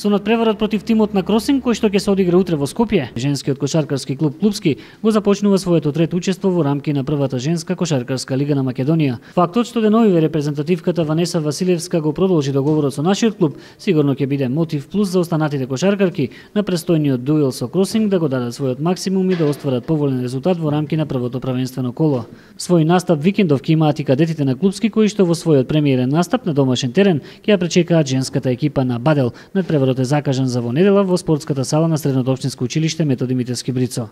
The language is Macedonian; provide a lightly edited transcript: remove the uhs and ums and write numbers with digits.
Со надпреварот против тимот на Кросинг, кој што ќе се одигра утре во Скопје, женскиот кошаркарски клуб Клупски го започнува своето трето учество во рамки на првата женска кошаркарска лига на Македонија. Фактот што деновиве репрезентативката Ванеса Василевска го продолжи договорот со нашиот клуб, сигурно ќе биде мотив плюс за останатите кошаркарки на престојниот дуел со Кросинг да го дадат својот максимум и да остварат поволен резултат во рамки на првото правенствено коло. Свој настап викендов ќе имаат и кадетите на Клупски, кои што во својот премиерен настап на домашен терен ќе ја пречекаат женската екипа на Бадел. Надпреварот е закажан за во недела во спортската сала на Средното општинско училиште Методи Митевски Брицо.